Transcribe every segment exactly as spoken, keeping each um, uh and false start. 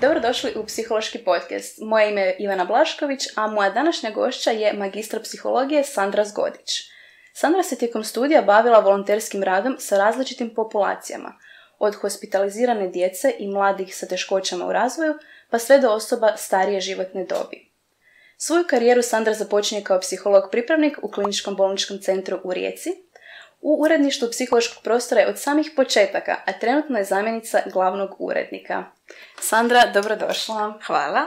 Dobrodošli u Psihološki podcast. Moje ime je Ivana Blašković, a moja današnja gošća je magistra psihologije Sandra Zgodić. Sandra se tijekom studija bavila volonterskim radom sa različitim populacijama, od hospitalizirane djece i mladih sa teškoćama u razvoju, pa sve do osoba starije životne dobi. Svoju karijeru Sandra započinje kao psiholog pripravnik u Kliničkom bolničkom centru u Rijeci. U uredništvu psihološkog prostora je od samih početaka, a trenutno je zamjenica glavnog urednika. Sandra, dobrodošla. Hvala.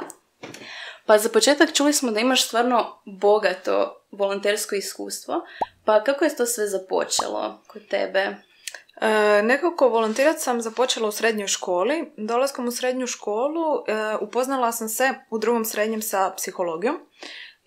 Pa za početak čuli smo da imaš stvarno bogato volontersko iskustvo, pa kako je to sve započelo kod tebe? E, nekako volontirati sam započela u srednjoj školi. Dolaskom u srednju školu e, upoznala sam se u drugom srednjem sa psihologijom.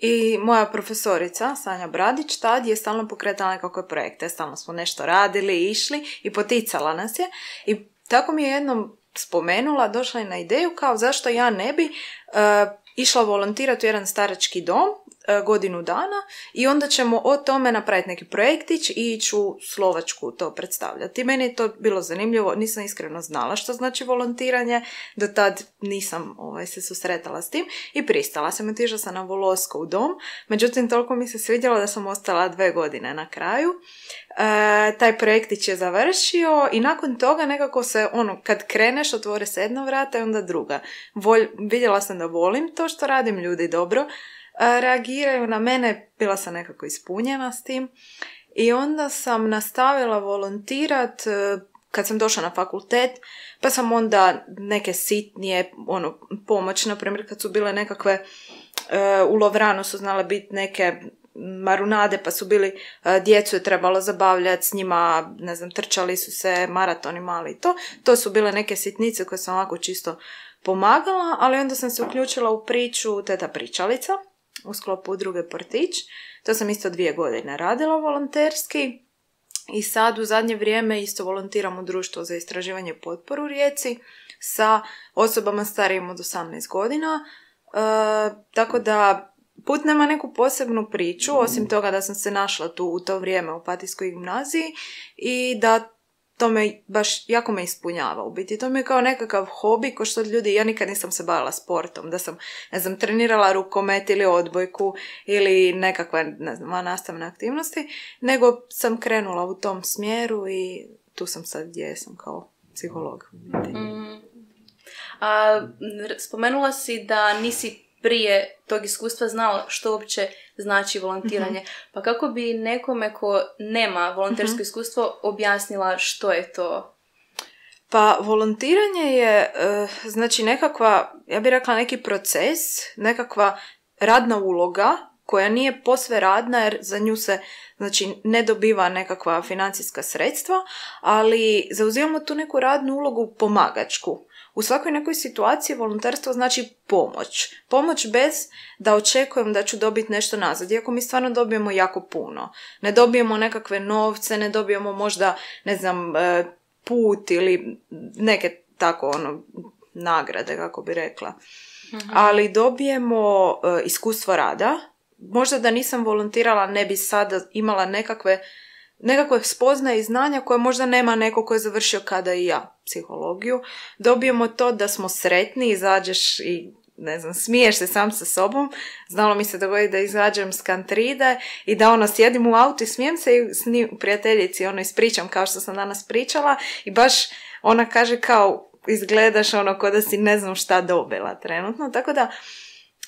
I moja profesorica, Sanja Bradić, tad je stalno pokretala nekakve projekte. Stalno smo nešto radili, išli i poticala nas je. I tako mi je jednom spomenula, došla je na ideju kao zašto ja ne bi uh, išla volontirati u jedan starački dom uh, godinu dana i onda ćemo o tome napraviti neki projektić i ići u Slovačku to predstavljati. Meni je to bilo zanimljivo, nisam iskreno znala što znači volontiranje, do tad nisam ovaj, se susretala s tim i pristala sam, otišla sam na Volosko u dom, međutim toliko mi se svidjelo da sam ostala dve godine na kraju. E, taj projektić je završio i nakon toga nekako se, ono, kad kreneš otvore se jedna vrata i onda druga. Volj, vidjela sam da volim to što radim, ljudi dobro e, reagiraju na mene, bila sam nekako ispunjena s tim i onda sam nastavila volontirat e, kad sam došla na fakultet, pa sam onda neke sitnije ono, pomoć, na primjer kad su bile nekakve e, u Lovranu su znale biti neke marunade, pa su bili, djecu je trebalo zabavljati s njima, ne znam, trčali su se maratoni mali i to. To su bile neke sitnice koje sam ovako čisto pomagala, ali onda sam se uključila u priču Teta pričalica u sklopu udruge Portić. To sam isto dvije godine radila volonterski i sad u zadnje vrijeme isto volontiram u društvu za istraživanje potporu u Rijeci sa osobama starijim od osamnaest godina. E, tako da put nema neku posebnu priču, osim toga da sam se našla tu u to vrijeme u Opatijskoj gimnaziji i da to me baš jako me ispunjava u biti. To mi je kao nekakav hobi, ko što ljudi, ja nikad nisam se bavila sportom, da sam, ne znam, trenirala rukomet ili odbojku ili nekakve, ne znam, nastavne aktivnosti, nego sam krenula u tom smjeru i tu sam sad gdje sam kao psiholog. Mm. A, spomenula si da nisi prije tog iskustva znala što uopće znači volontiranje. Mm-hmm. Pa kako bi nekome ko nema volontersko mm-hmm. iskustvo objasnila što je to? Pa volontiranje je uh, znači nekakva, ja bih rekla neki proces, nekakva radna uloga koja nije posve radna jer za nju se znači ne dobiva nekakva financijska sredstva, ali zauzimamo tu neku radnu ulogu pomagačku. U svakoj nekoj situaciji volonterstvo znači pomoć. Pomoć bez da očekujem da ću dobiti nešto nazad. Iako mi stvarno dobijemo jako puno. Ne dobijemo nekakve novce, ne dobijemo možda, ne znam, put ili neke tako ono nagrade, kako bi rekla. Mhm. Ali dobijemo iskustvo rada. Možda da nisam volontirala ne bi sada imala nekakve nekakve spoznaje i znanja koje možda nema neko ko je završio kada i ja psihologiju. Dobijemo to da smo sretni, izađeš i ne znam, smiješ se sam sa sobom. Znalo mi se dogoditi da izađem s kantride i da ono sjedim u autu i smijem se i s njim prijateljici ono ispričam kao što sam danas pričala i baš ona kaže kao izgledaš ono ko da si ne znam šta dobila trenutno. Tako da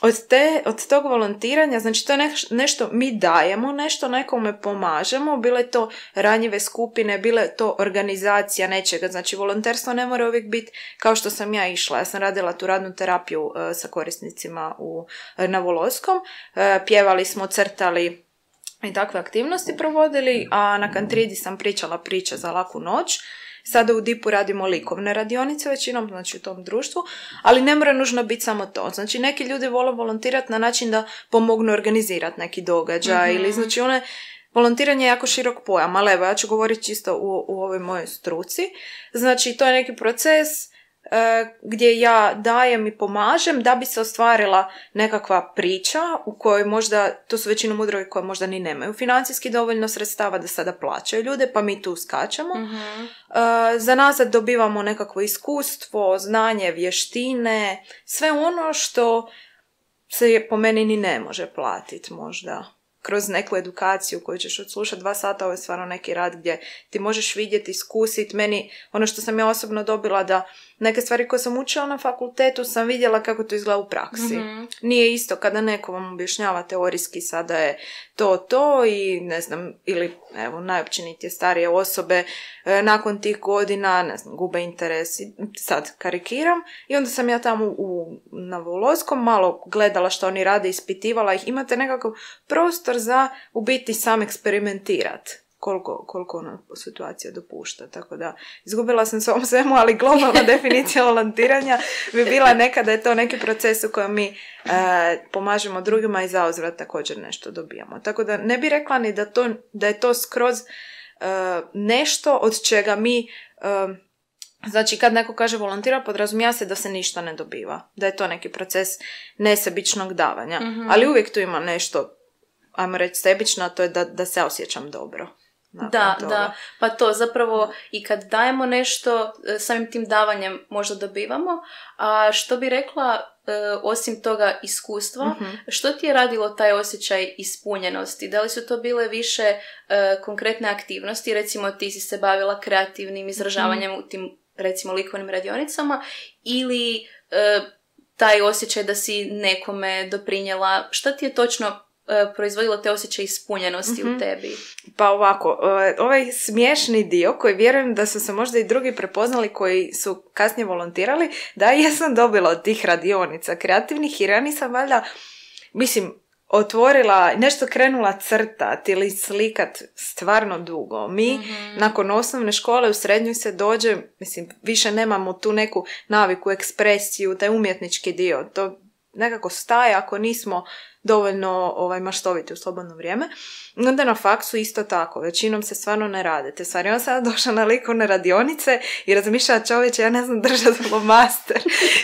Od, te, od tog volontiranja, znači to je neš, nešto mi dajemo, nešto nekome pomažemo, bile to ranjive skupine, bile to organizacija nečega, znači volonterstvo ne mora uvijek biti kao što sam ja išla, ja sam radila tu radnu terapiju uh, sa korisnicima u, na Voloskom, uh, pjevali smo, crtali i takve aktivnosti provodili, a na Kantridi sam pričala priče za laku noć. Sada u dipu radimo likovne radionice većinom, znači u tom društvu, ali ne mora nužno biti samo to. Znači neki ljudi vole volontirati na način da pomognu organizirati neki događaj mm-hmm. ili znači one, volontiranje je jako širok pojam, ali evo ja ću govoriti čisto u, u ovoj mojoj struci. Znači to je neki proces gdje ja dajem i pomažem da bi se ostvarila nekakva priča u kojoj možda, to su većinom udruge koje možda ni nemaju financijski dovoljno sredstava da sada plaćaju ljude, pa mi tu skačemo. Mm-hmm. Za nazad dobivamo nekakvo iskustvo, znanje, vještine, sve ono što se po meni ni ne može platiti možda. Kroz neku edukaciju koju ćeš odslušati dva sata, ovo je stvarno neki rad gdje ti možeš vidjeti, iskusiti. Meni, ono što sam ja osobno dobila, da neke stvari koje sam učila na fakultetu sam vidjela kako to izgleda u praksi. Mm-hmm. Nije isto kada neko vam objašnjava teorijski sada je to, to i ne znam, ili evo, najopćenitije starije osobe e, nakon tih godina, ne znam, gube interes, sad karikiram, i onda sam ja tamo u, na Voloskom malo gledala što oni rade, ispitivala ih, imate nekakav prostor za u biti sam eksperimentirati. Koliko, koliko ona situacija dopušta. Tako da, izgubila sam svom svemu, ali globalna definicija volontiranja bi bila neka da je to neki proces u kojem mi e, pomažemo drugima i zauzvrat također nešto dobijamo. Tako da ne bi rekla ni da, to, da je to skroz e, nešto od čega mi... E, Znači, kad neko kaže volontira, podrazumijeva se da se ništa ne dobiva. Da je to neki proces nesebičnog davanja. Mm-hmm. Ali uvijek tu ima nešto, ajmo reći, sebično, a to je da, da se osjećam dobro. Da, toga. da, pa to zapravo i kad dajemo nešto, samim tim davanjem možda dobivamo, a što bi rekla, osim toga iskustva, mm-hmm. što ti je radilo taj osjećaj ispunjenosti? Da li su to bile više konkretne aktivnosti, recimo ti si se bavila kreativnim izražavanjem mm-hmm. u tim, recimo, likovnim radionicama, ili taj osjećaj da si nekome doprinijela, što ti je točno proizvodilo te osjećaje ispunjenosti mm-hmm. u tebi? Pa ovako, ovaj smiješni dio koji vjerujem da su se možda i drugi prepoznali koji su kasnije volontirali, da ja sam dobila od tih radionica kreativnih i rani sam valjda, mislim, otvorila, nešto krenula crtat ili slikat stvarno dugo. Mi mm-hmm. nakon osnovne škole u srednjoj se dođe, mislim, više nemamo tu neku naviku, ekspresiju, taj umjetnički dio. To nekako staje ako nismo dovoljno ovaj, maštoviti u slobodno vrijeme. Onda na faksu isto tako. Većinom se stvarno ne rade te stvari. On sada došla na likovne radionice i razmišlja, čovječe, ja ne znam držati flomaster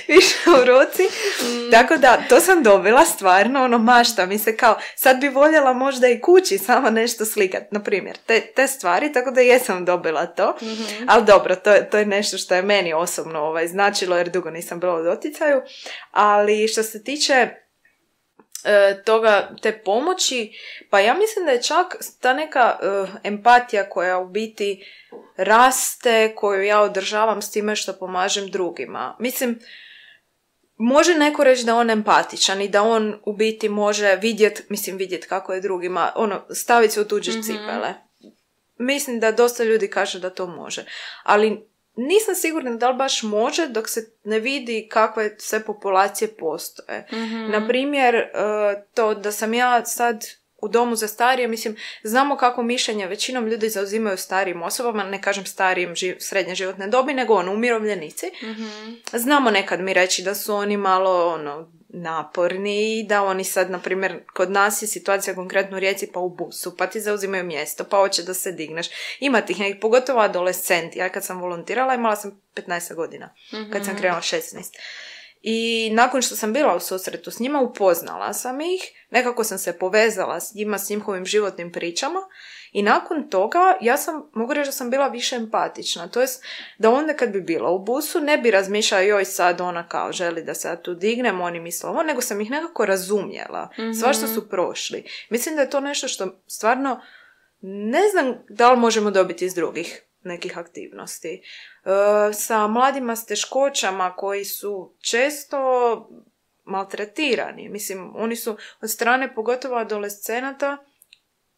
više u ruci. Mm. Tako da, to sam dobila stvarno, ono, mašta mi se kao, sad bi voljela možda i kući sama nešto slikat, na primjer, te, te stvari, tako da jesam dobila to. Mm-hmm. Ali dobro, to, to je nešto što je meni osobno ovaj, značilo, jer dugo nisam bila u doticaju. Ali što se tiče toga, te pomoći, pa ja mislim da je čak ta neka uh, empatija koja u biti raste, koju ja održavam s time što pomažem drugima. Mislim, može neko reći da on empatičan i da on u biti može vidjet, mislim vidjet kako je drugima, ono, staviti se u tuđe mm-hmm. cipele. Mislim da dosta ljudi kaže da to može. Ali nisam sigurna da li baš može dok se ne vidi kakve sve populacije postoje. Mm-hmm. Naprimjer, to da sam ja sad u domu za starije, mislim, znamo kako mišljenje većinom ljudi zauzimaju starijim osobama, ne kažem starijim živ, srednje životne dobi, nego ono, umirovljenici. Mm-hmm. Znamo nekad mi reći da su oni malo ono, naporni i da oni sad, na primjer, kod nas je situacija konkretno u Rijeci, pa u busu, pa ti zauzimaju mjesto, pa hoće da se digneš. Ima tih nekih, pogotovo adolescenti. Ja kad sam volontirala imala sam petnaest godina, mm-hmm. kad sam krenula šesnaest. I nakon što sam bila u susretu s njima, upoznala sam ih, nekako sam se povezala s njima, s njihovim životnim pričama i nakon toga ja sam, mogu reći da sam bila više empatična. To jest da onda kad bi bila u busu ne bi razmišljala joj sad ona kao želi da se ja tu dignem, oni misle ovo, nego sam ih nekako razumjela. Mm-hmm. Sva što su prošli. Mislim da je to nešto što stvarno ne znam da li možemo dobiti iz drugih nekih aktivnosti. E, sa mladima s teškoćama koji su često maltretirani. Mislim, oni su od strane pogotovo adolescenata,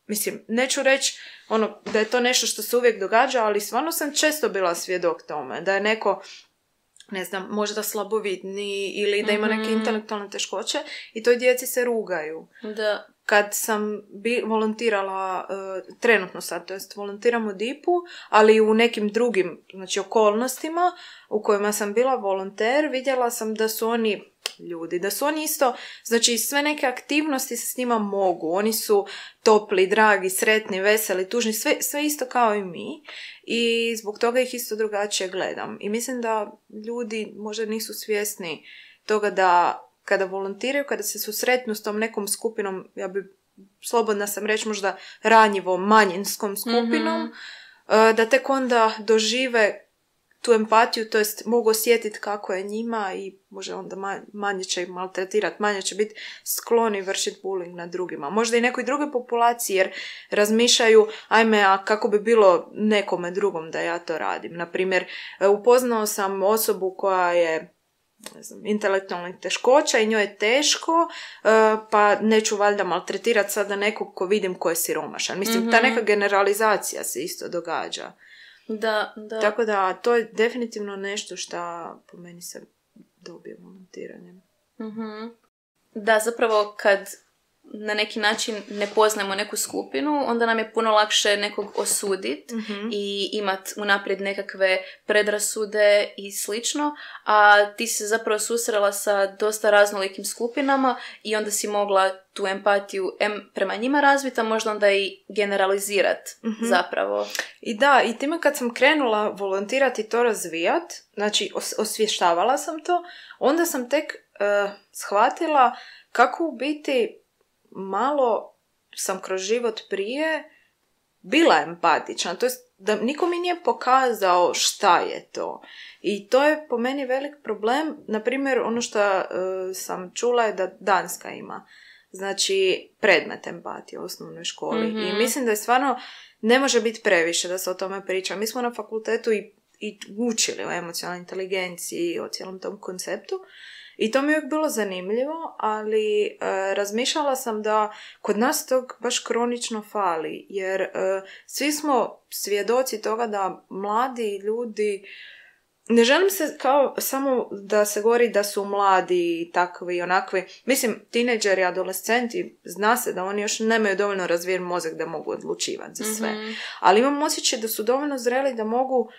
mislim, neću reći ono, da je to nešto što se uvijek događa, ali stvarno sam često bila svjedok tome. Da je neko, ne znam, možda slabovidni ili da ima neke mm-hmm. intelektualne teškoće i toj djeci se rugaju. Da. Kad sam bi, volontirala, uh, trenutno sad, to jest volontiram u dipu, ali u nekim drugim, znači, okolnostima u kojima sam bila volonter, vidjela sam da su oni ljudi, da su oni isto, znači sve neke aktivnosti se s njima mogu, oni su topli, dragi, sretni, veseli, tužni, sve, sve isto kao i mi i zbog toga ih isto drugačije gledam. I mislim da ljudi možda nisu svjesni toga da kada volontiraju, kada se susretnu s tom nekom skupinom, ja bi slobodna sam reći možda ranjivom, manjinskom skupinom, mm-hmm. da tek onda dožive tu empatiju, to jest mogu osjetiti kako je njima i može onda manje će ih maltretirati, manje će biti skloni vršiti bullying nad drugima. Možda i nekoj drugoj populaciji jer razmišljaju, ajme, a kako bi bilo nekome drugom da ja to radim. Naprimjer, upoznao sam osobu koja je ne znam, intelektualnih teškoća i njoj je teško, pa neću valjda maltretirati sada nekog ko vidim ko je siromašan. Mislim, mm-hmm. ta neka generalizacija se isto događa. Da, da. Tako da, to je definitivno nešto što po meni se dobije volontiranjem. Mm-hmm. Da, zapravo kad na neki način ne poznajemo neku skupinu, onda nam je puno lakše nekog osuditi mm-hmm. i imati unaprijed nekakve predrasude i slično, a ti si zapravo susrela sa dosta raznolikim skupinama i onda si mogla tu empatiju em prema njima razviti, a možda onda i generalizirati mm-hmm. zapravo. I da, i time kad sam krenula volontirati i to razvijat, znači os- osvještavala sam to, onda sam tek uh, shvatila kako u biti malo sam kroz život prije bila empatična, to jest da niko mi nije pokazao šta je to. I to je po meni velik problem. Naprimjer, ono što uh, sam čula je da Danska ima, znači, predmet empatije u osnovnoj školi. Mm-hmm. I mislim da je stvarno, ne može biti previše da se o tome priča. Mi smo na fakultetu i, i učili o emocionalnoj inteligenciji i o cijelom tom konceptu. I to mi je uvijek bilo zanimljivo, ali e, razmišljala sam da kod nas tog baš kronično fali, jer e, svi smo svjedoci toga da mladi ljudi, ne želim se kao samo da se govori da su mladi takvi i onakvi, mislim, tinejdžeri, adolescenti, zna se da oni još nemaju dovoljno razvijen mozak da mogu odlučivati za sve, mm-hmm. ali imam osjećaj da su dovoljno zreli da mogu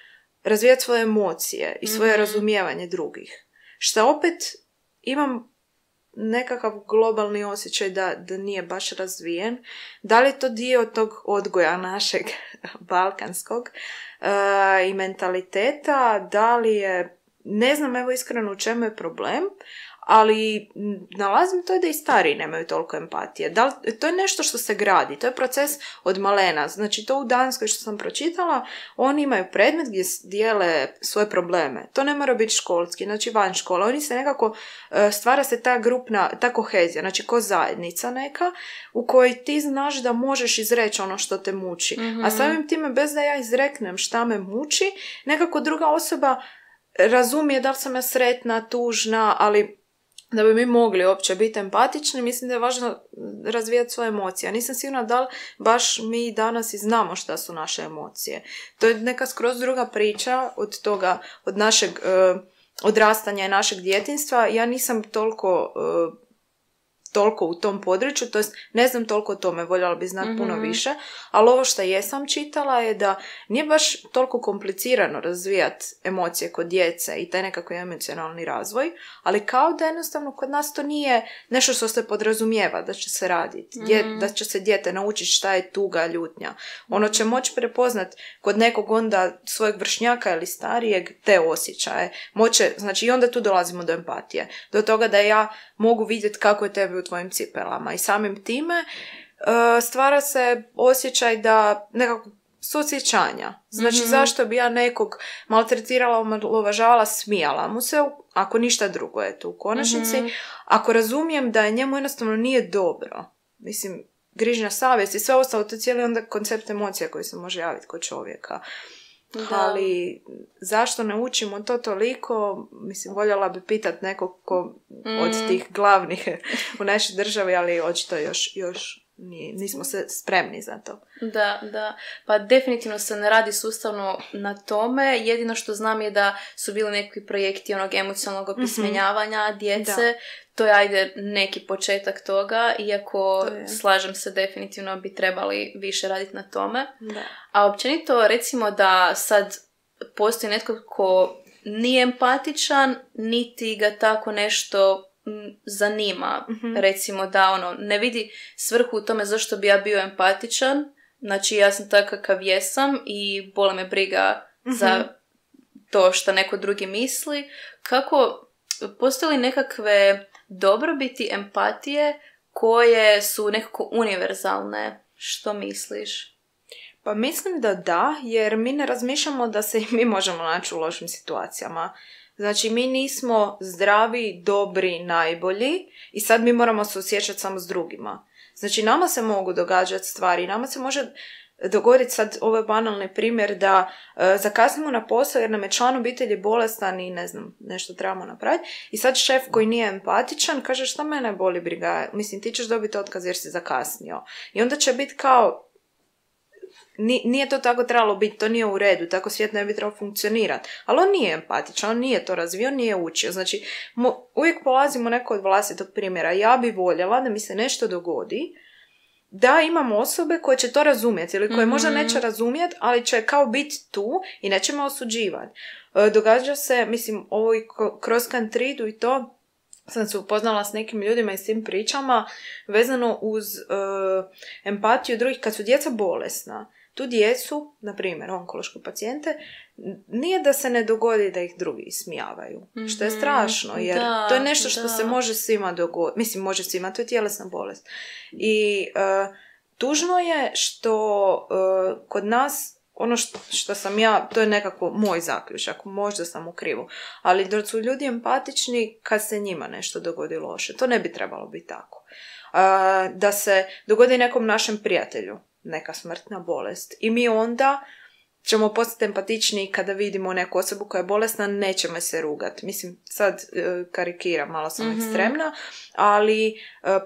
razvijati svoje emocije i svoje mm-hmm. razumijevanje drugih. Što opet imam nekakav globalni osjećaj da, da nije baš razvijen. Da li je to dio tog odgoja našeg balkanskog uh, i mentaliteta, da li je, ne znam evo iskreno u čemu je problem, ali nalazim to da i stariji nemaju toliko empatije. Da li, to je nešto što se gradi, to je proces od malena. Znači to u Danskoj što sam pročitala, oni imaju predmet gdje dijele svoje probleme. To ne mora biti školski, znači van škole. Oni se nekako, stvara se ta grupna, ta kohezija, znači ko zajednica neka, u kojoj ti znaš da možeš izreći ono što te muči. Mm-hmm. A samim time, bez da ja izreknem šta me muči, nekako druga osoba razumije da li sam ja sretna, tužna, ali da bi mi mogli uopće biti empatični, mislim da je važno razvijati svoje emocije. Ja nisam sigurna da li baš mi danas i znamo šta su naše emocije. To je neka skroz druga priča od toga, od našeg uh, odrastanja i našeg djetinjstva. Ja nisam toliko... Uh, toliko u tom području, to jest ne znam toliko o tome, voljela bi znati mm-hmm. puno više, ali ovo što jesam čitala je da nije baš toliko komplicirano razvijati emocije kod djece i taj nekako emocionalni razvoj, ali kao da jednostavno kod nas to nije nešto što se podrazumijeva da će se raditi, mm-hmm. da će se dijete naučiti šta je tuga, ljutnja. Ono će moći prepoznat kod nekog onda svojeg vršnjaka ili starijeg te osjećaje. Moće, znači i onda tu dolazimo do empatije. Do toga da ja mogu vidjeti kako je tebi u tvojim cipelama i samim time uh, stvara se osjećaj da nekako suosjećanja. Znači mm-hmm. zašto bi ja nekog maltretirala, omalovažavala, smijala mu se, ako ništa drugo je tu u konačnici. Mm-hmm. Ako razumijem da je njemu jednostavno nije dobro, mislim, grižnja savjesti i sve ostalo, to je cijeli onda koncept emocija koji se može javiti kod čovjeka. Da. Ali zašto ne učimo to toliko, mislim, voljela bi pitat nekog ko mm. od tih glavnih u našoj državi, ali očito još, još nije, nismo se spremni za to. Da, da. Pa definitivno se ne radi sustavno na tome. Jedino što znam je da su bili neki projekti onog emocionalnog opismenjavanja mm-hmm. djece. Da. To je, ajde, neki početak toga, iako to slažem se, definitivno bi trebali više raditi na tome. Da. A općenito, recimo da sad postoji netko ko nije empatičan, niti ga tako nešto m, zanima, mm-hmm. recimo da ono, ne vidi svrhu u tome zašto bi ja bio empatičan, znači ja sam takav kakav jesam i boli me briga mm-hmm. za to što neko drugi misli. Kako, postoje li nekakve dobrobiti empatije koje su nekako univerzalne? Što misliš? Pa mislim da da, jer mi ne razmišljamo da se i mi možemo naći u lošim situacijama. Znači, mi nismo zdravi, dobri, najbolji i sad mi moramo se osjećati samo s drugima. Znači, nama se mogu događati stvari, nama se može dogoditi sad, ovo je banalni primjer, da e, zakasnimo na posao jer nam je član obitelji bolestan i ne znam, nešto trebamo napraviti. I sad šef koji nije empatičan kaže šta mene boli briga, mislim ti ćeš dobiti otkaz jer si zakasnio. I onda će biti kao, nije to tako trebalo biti, to nije u redu, tako svijet ne bi trebao funkcionirati. Ali on nije empatičan, on nije to razvio, nije učio. Znači, mo, uvijek polazimo neko od vlastitog primjera. Ja bi voljela da mi se nešto dogodi, da imamo osobe koje će to razumjeti ili koje mm-hmm. možda neće razumjeti, ali će kao biti tu i neće me osuđivati. E, događa se, mislim, ovo i kroz kantridu i to, sam se upoznala s nekim ljudima i s tim pričama vezano uz e, empatiju drugih kad su djeca bolesna. Tu djecu, na primjer onkološke pacijente, nije da se ne dogodi da ih drugi ismijavaju. Mm-hmm. Što je strašno, jer da, to je nešto što da. se može svima dogoditi. Mislim, može svima, to je tjelesna bolest. I uh, tužno je što uh, kod nas, ono što, što sam ja, to je nekako moj zaključak, možda sam u krivu, ali da su ljudi empatični kad se njima nešto dogodi loše. To ne bi trebalo biti tako. Uh, da se dogodi nekom našem prijatelju neka smrtna bolest. I mi onda ćemo postati empatični kada vidimo neku osobu koja je bolesna, nećemo se rugati. Mislim, sad e, karikiram, malo sam mm-hmm. ekstremna, ali e,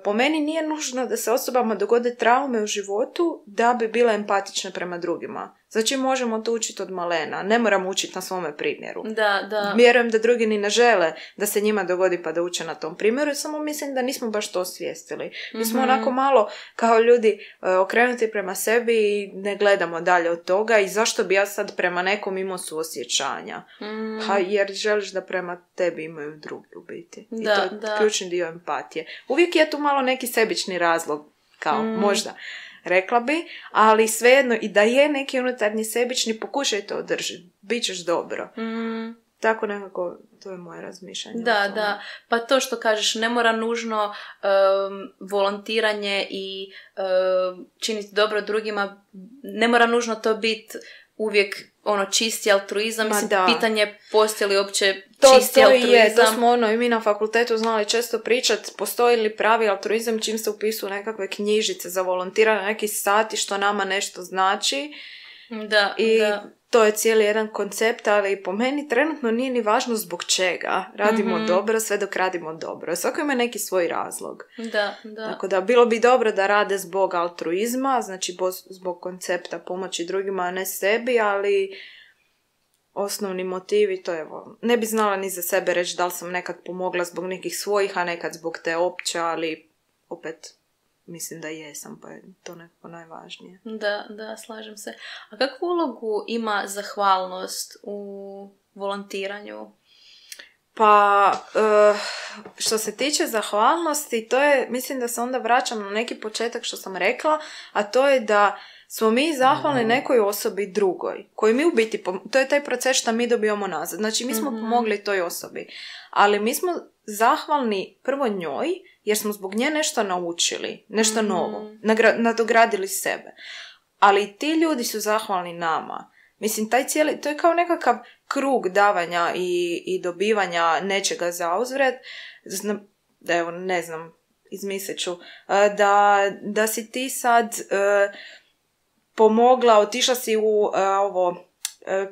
po meni nije nužno da se osobama dogode traume u životu da bi bila empatična prema drugima. Znači, možemo to učiti od malena. Ne moramo učiti na svome primjeru. Da, da. Vjerujem da drugi ni ne žele da se njima dogodi pa da uče na tom primjeru, samo mislim da nismo baš to osvijestili. Mi smo mm-hmm. onako malo kao ljudi uh, okrenuti prema sebi i ne gledamo dalje od toga i zašto bi ja sad prema nekom imao suosjećanja. Mm. Pa jer želiš da prema tebi imaju drugi u biti. Da, I to je da. ključni dio empatije. Uvijek je tu malo neki sebični razlog, kao mm. možda. Rekla bi, ali svejedno i da je neki unutarnji sebični, pokušaj to održiti. Bićeš dobro. Mm. Tako nekako, to je moje razmišljanje. Da, da. Pa to što kažeš, ne mora nužno um, volontiranje i um, činiti dobro drugima, ne mora nužno to biti uvijek ono čisti altruizam. Mislim, pitanje postoji li uopće to, čisti to altruizam. Je, to smo ono i mi na fakultetu znali često pričati, postoji li pravi altruizam čim se upisuju nekakve knjižice za volontiranje, neki sati što nama nešto znači. Da, I da. to je cijeli jedan koncept, ali po meni trenutno nije ni važno zbog čega. Radimo mm-hmm. dobro sve dok radimo dobro. Svako ima neki svoj razlog. Da, da. Tako da bilo bi dobro da rade zbog altruizma, znači zbog koncepta pomoći drugima, a ne sebi, ali osnovni motivi, to je evo, ne bi znala ni za sebe reći da li sam nekad pomogla zbog nekih svojih, a nekad zbog te opće, ali opet mislim da jesam, pa je to nekako najvažnije. Da, da, slažem se. A kakvu ulogu ima zahvalnost u volontiranju? Pa, uh, što se tiče zahvalnosti, to je, mislim da se onda vraćam na neki početak što sam rekla, a to je da smo mi zahvalni nekoj osobi drugoj, koji mi u biti, to je taj proces što mi dobijamo nazad. Znači, mi smo mm-hmm. pomogli toj osobi, ali mi smo zahvalni prvo njoj, jer smo zbog nje nešto naučili, nešto mm-hmm. novo, nagra- nadogradili sebe. Ali ti ljudi su zahvalni nama. Mislim, taj cijeli, to je kao nekakav krug davanja i, i dobivanja nečega za uzvrat. Znam, evo, ne znam, izmislit ću, da, da si ti sad uh, pomogla, otišla si u uh, ovo,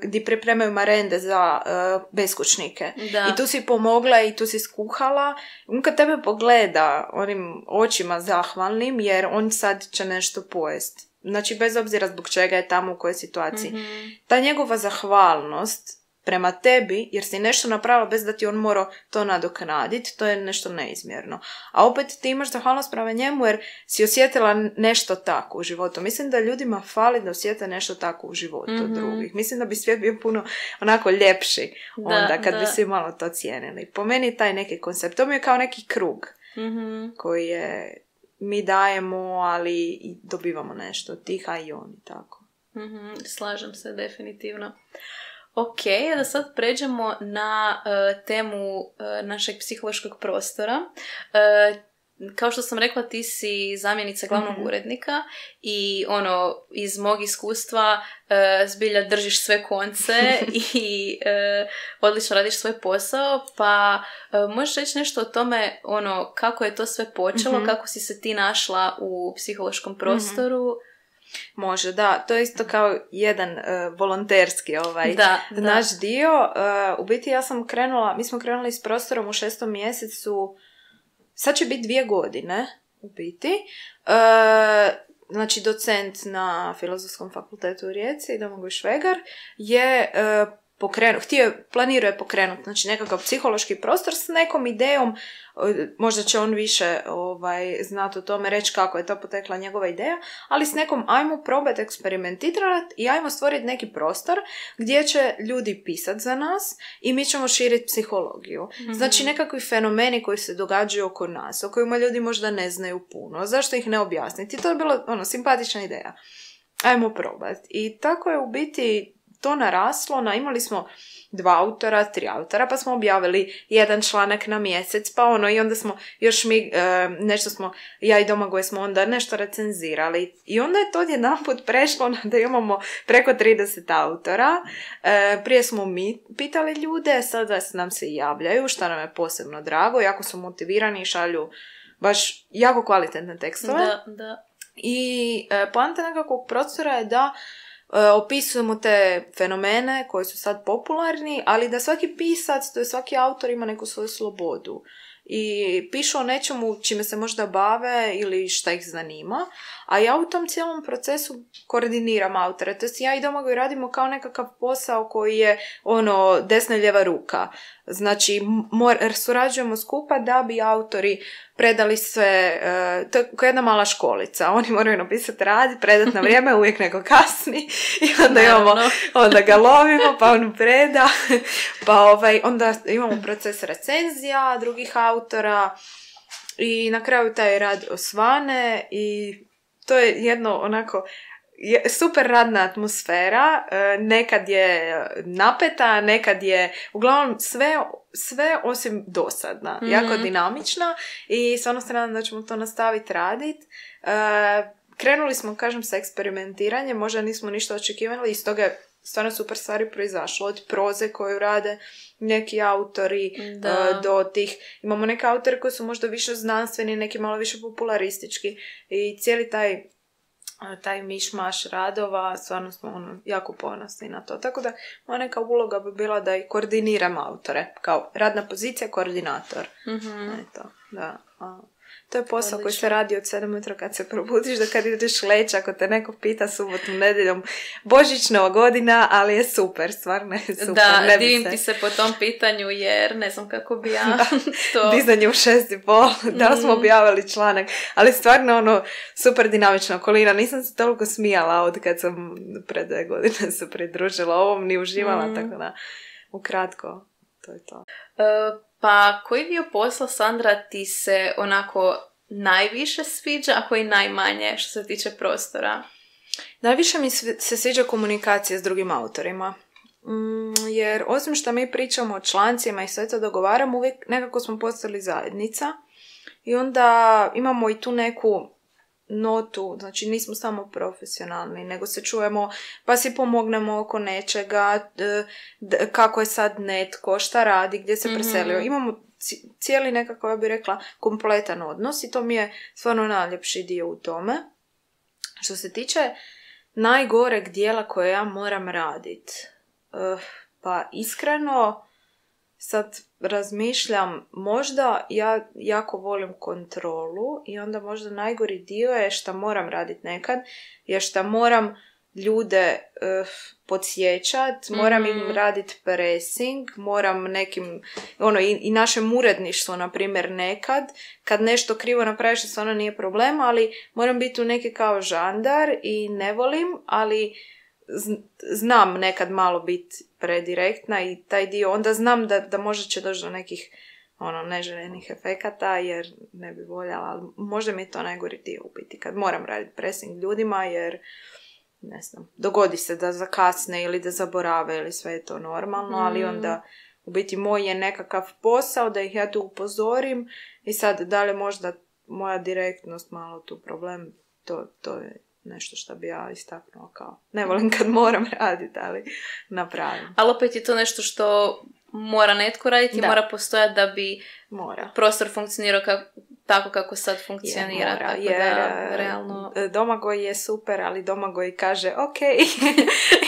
gdje pripremaju marende za uh, beskućnike. Da. I tu si pomogla i tu si skuhala. On kad tebe pogleda onim očima zahvalnim, jer on sad će nešto pojesti. Znači, bez obzira zbog čega je tamo, u kojoj situaciji. Mm-hmm. Ta njegova zahvalnost prema tebi, jer si nešto napravila bez da ti on mora to nadoknaditi, to je nešto neizmjerno. A opet ti imaš zahvalnost prema njemu jer si osjetila nešto tako u životu. Mislim da ljudima fali da osjete nešto tako u životu mm-hmm. od drugih. Mislim da bi svijet bio puno onako ljepši onda da, kad da. bi svi malo to cijenili. Po meni taj neki koncept, to mi je kao neki krug mm-hmm. koji je mi dajemo, ali i dobivamo nešto od tih, a i oni tako. Mm-hmm. Slažem se, definitivno. Ok, da sad pređemo na uh, temu uh, našeg psihološkog prostora. Uh, kao što sam rekla, ti si zamjenica glavnog mm-hmm. urednika i ono, iz mog iskustva uh, zbilja držiš sve konce i uh, odlično radiš svoj posao, pa uh, možeš reći nešto o tome, ono, kako je to sve počelo, mm-hmm. kako si se ti našla u psihološkom prostoru. Mm-hmm. Može, da. To je isto kao jedan uh, volonterski ovaj da, naš da. dio. Uh, u biti ja sam krenula, mi smo krenuli s prostorom u šestom mjesecu, sad će biti dvije godine u biti. Uh, znači docent na Filozofskom fakultetu u Rijeci, Domagoj Švegar, je uh, pokrenut, htio, planirao je pokrenuti znači nekakav psihološki prostor s nekom idejom, možda će on više ovaj, znati o tome, reći kako je to potekla njegova ideja, ali s nekom ajmo probati eksperimentirati i ajmo stvoriti neki prostor gdje će ljudi pisati za nas i mi ćemo širiti psihologiju. Mm-hmm. Znači nekakvi fenomeni koji se događaju oko nas, o kojima ljudi možda ne znaju puno, zašto ih ne objasniti. To je bila ono, simpatična ideja. Ajmo probati. I tako je u biti to naraslo, na, imali smo dva autora, tri autora, pa smo objavili jedan članak na mjesec, pa ono, i onda smo još mi, e, nešto smo, ja i Domagoj smo onda nešto recenzirali. I onda je to odjedanput prešlo na da imamo preko trideset autora. E, prije smo mi pitali ljude, sada nam se javljaju, što nam je posebno drago, jako su motivirani i šalju baš jako kvalitetne tekstove. Da, da. I e, poanta nekakvog prostora je da opisujemo te fenomene koji su sad popularni, ali da svaki pisac, to je svaki autor ima neku svoju slobodu i pišu o nečemu čime se možda bave ili šta ih zanima, a ja u tom cijelom procesu koordiniram autore, to jest ja i Domagoj radimo kao nekakav posao koji je ono desna i lijeva ruka. Znači, mor, surađujemo skupa da bi autori predali sve, uh, to je kao jedna mala školica, oni moraju napisati rad, predati na vrijeme, uvijek neko kasni i onda imamo, onda ga lovimo, pa on preda, pa ovaj, onda imamo proces recenzija drugih autora i na kraju taj rad osvane i to je jedno onako je super radna atmosfera, nekad je napeta, nekad je uglavnom sve, sve osim dosadna, mm-hmm. jako dinamična i stvarno se nadam da ćemo to nastaviti raditi. Krenuli smo, kažem, sa eksperimentiranjem, možda nismo ništa očekivali i stoga je stvarno super stvari proizašlo, od proze koju rade neki autori uh, do tih, imamo neke autore koji su možda više znanstveni, neki malo više popularistički i cijeli taj taj mišmaš radova, stvarno smo ono, jako ponosni na to. Tako da moja neka uloga bi bila da i koordiniram autore, kao radna pozicija, koordinator. Mm-hmm. Eto, da. A, to je posao Odlično. Koji se radi od sedam ujutro kad se probudiš do kad ideš leći, ako te neko pita subotom, nedjeljom, Božićnova godina, ali je super, stvarno je super. Da, ne divim se... ti se po tom pitanju jer ne znam kako bi ja to... Dizanje u šest i pol, da smo objavili članak, ali stvarno ono super dinamična okolina. Nisam se toliko smijala od kad sam pred dve godine se pridružila ovom, ni uživala, mm. tako da ukratko, to je to. Uh, Pa koji dio posla, Sandra, ti se onako najviše sviđa, a koji najmanje što se tiče prostora? Najviše mi se sviđa komunikacija s drugim autorima. Mm, jer osim što mi pričamo o člancima i sve to dogovaramo, uvijek nekako smo postali zajednica. I onda imamo i tu neku notu, znači nismo samo profesionalni, nego se čujemo, pa si pomognemo oko nečega, d- d- kako je sad netko, šta radi, gdje se preselio. Mm-hmm. Imamo cijeli nekako, ja bih rekla, kompletan odnos i to mi je stvarno najljepši dio u tome. Što se tiče najgoreg dijela koje ja moram raditi, uh, pa iskreno sad razmišljam, možda ja jako volim kontrolu i onda možda najgori dio je što moram raditi nekad, je što moram ljude uh, podsjećat, moram Mhm. im raditi pressing, moram nekim, ono, i, i našem uredništvu, na primjer, nekad, kad nešto krivo napraviš, to stvarno nije problem, ali moram biti u neki kao žandar i ne volim, ali z- znam nekad malo biti predirektna i taj dio, onda znam da, da možda će doći do nekih ono, neželjenih efekata, jer ne bi voljela, ali možda mi je to najgori dio u biti, kad moram raditi pressing ljudima, jer ne znam, dogodi se da zakasne ili da zaborave ili sve je to normalno, ali onda u biti moj je nekakav posao da ih ja tu upozorim i sad da li možda moja direktnost malo tu problem, to, to je nešto što bi ja istaknula kao ne volim kad moram raditi, ali napravim. Ali opet je to nešto što mora netko raditi i Da. mora postojati da bi Mora. prostor funkcionirao kako, tako kako sad funkcionira. Je, mora, tako jer da, e, realno... Domagoj je super, ali Domagoj kaže ok.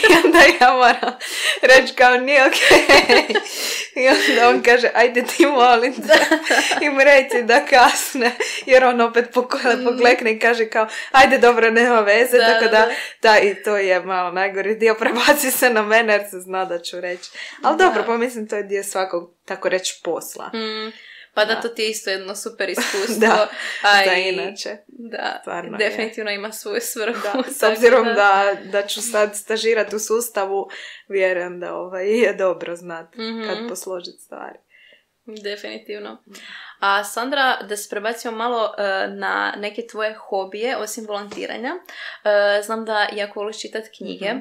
I onda ja moram reći kao nije ok. I onda on kaže ajde ti molim te im reci da kasne. Jer on opet pokle- poklekne i kaže kao ajde dobro nema veze. Da, tako da, da. da i to je malo najgori dio. Prebaci se na mene jer se zna da ću reći. Ali Da. dobro, pa mislim to je dio svakog tako reći posla. Mm, pa da, Da. to ti je isto jedno super iskustvo. Da, a za i- inače. Da, Stvarno je. definitivno ima svoju svrhu. Da, s tako obzirom da, da ću sad stažirati u sustavu, vjerujem da ovaj, je dobro znat Mhm. kad posložiti stvari. Definitivno. A Sandra, da se prebacimo malo e, na neke tvoje hobije, osim volontiranja. E, znam da jako voliš čitati knjige, Mhm.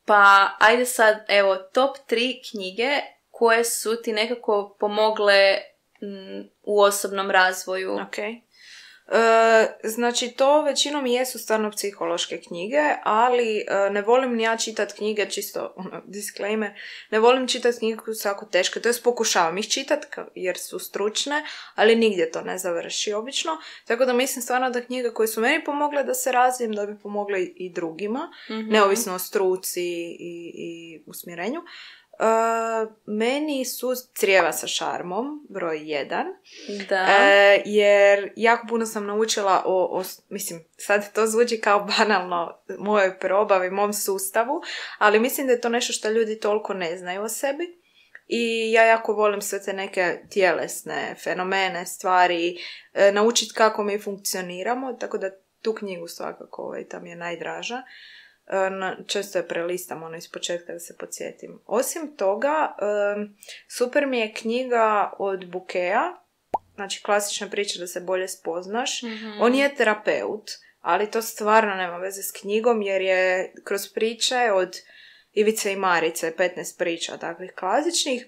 pa ajde sad, evo, top tri knjige koje su ti nekako pomogle mm, u osobnom razvoju. Ok. E, znači to većinom jesu stvarno psihološke knjige, ali e, ne volim ni ja čitati knjige, čisto ono, disclaimer, ne volim čitati knjige koje su jako teške, to jest pokušavam ih čitati jer su stručne, ali nigdje to ne završi obično, tako da mislim stvarno da knjige koje su meni pomogle da se razvijem, da bi pomogle i drugima, Mhm. neovisno o struci i, i usmjerenju. Uh, meni su Crijeva sa šarmom, broj jedan. Da. E, jer jako puno sam naučila o, o, mislim, sad to zvuči kao banalno mojoj probavi, mom sustavu, ali mislim da je to nešto što ljudi toliko ne znaju o sebi. I ja jako volim sve te neke tjelesne fenomene, stvari, e, naučiti kako mi funkcioniramo, tako da tu knjigu svakako ovaj, tam je najdraža. E, na, često je prelistam ono iz početka da se podsjetim. Osim toga, e, super mi je knjiga od Bukeja, znači klasična priča da se bolje spoznaš. Mhm. On je terapeut, ali to stvarno nema veze s knjigom jer je kroz priče od Ivice i Marice, petnaest priča takvih klasičnih,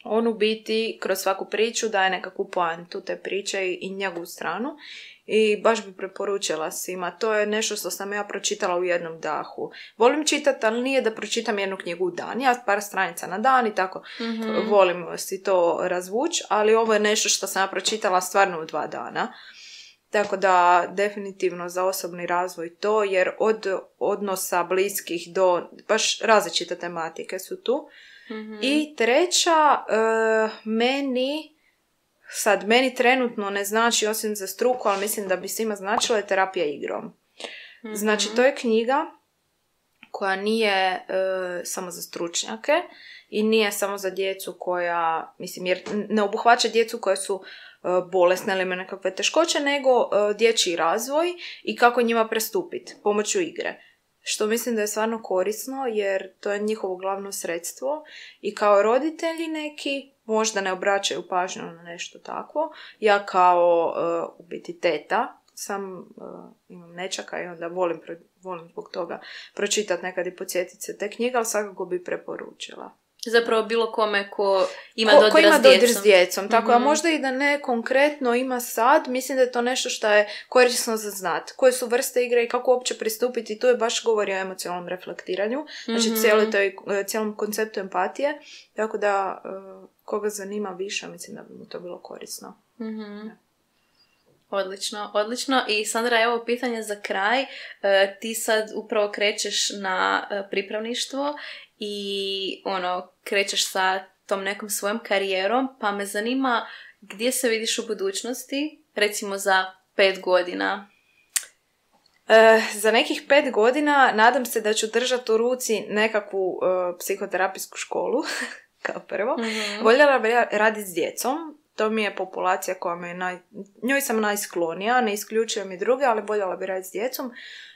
on u biti kroz svaku priču daje nekakvu poantu te priče i, i njegovu stranu. I baš bi preporučila svima. To je nešto što sam ja pročitala u jednom dahu. Volim čitati, ali nije da pročitam jednu knjigu u dan. Ja par stranica na dan i tako Mhm. volim si to razvući, ali ovo je nešto što sam ja pročitala stvarno u dva dana. Tako da definitivno za osobni razvoj to, jer od odnosa bliskih do baš različite tematike su tu. Mhm. I treća, e, meni, sad meni trenutno ne znači osim za struku, ali mislim da bi svima značilo je terapija igrom. Mhm. Znači to je knjiga koja nije e, samo za stručnjake i nije samo za djecu koja, mislim, jer ne obuhvaća djecu koje su e, bolesne ili imaju nekakve teškoće, nego e, dječji razvoj i kako njima prestupiti pomoću igre. Što mislim da je stvarno korisno jer to je njihovo glavno sredstvo i kao roditelji neki možda ne obraćaju pažnju na nešto takvo. Ja kao uh, u biti teta sam, uh, imam nečaka i onda volim, pro, volim zbog toga pročitati nekad i podsjetiti se te knjige, ali svakako bi preporučila. Zapravo bilo kome ko ima Ko, dodira ko ima s dodir djecom. s djecom. Tako, Mhm. a možda i da ne konkretno ima sad, mislim da je to nešto što je korisno za znat. Koje su vrste igre i kako uopće pristupiti, tu je baš govori o emocionalnom reflektiranju. Znači Mhm. cijelo toj, cijelom konceptu empatije. Tako da, uh, koga zanima više, mislim da bi mu to bilo korisno. Mhm. Odlično, odlično. I Sandra, evo pitanje za kraj. E, ti sad upravo krećeš na e, pripravništvo i ono, krećeš sa tom nekom svojom karijerom, pa me zanima gdje se vidiš u budućnosti, recimo za pet godina? E, za nekih pet godina nadam se da ću držati u ruci nekakvu e, psihoterapijsku školu, kao prvo. Mm-hmm. Voljela bi raditi s djecom. To mi je populacija koja me naj... njoj sam najsklonija, ne isključujem i druge, ali voljela bi raditi s djecom.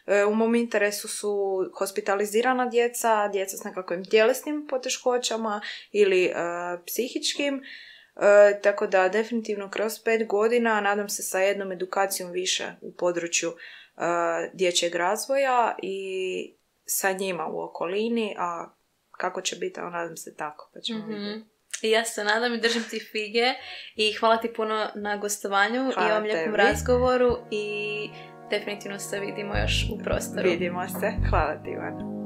E, u mom interesu su hospitalizirana djeca, djeca s nekakvim tjelesnim poteškoćama ili e, psihičkim. E, tako da definitivno kroz pet godina nadam se sa jednom edukacijom više u području e, dječjeg razvoja i sa njima u okolini, a kako će biti, a nadam se tako, pa ćemo mm-hmm. vidjeti. I ja se nadam i držim ti fige i hvala ti puno na gostovanju hvala i ovom lijepom razgovoru i definitivno se vidimo još u prostoru. Vidimo se. Hvala ti, Ivana.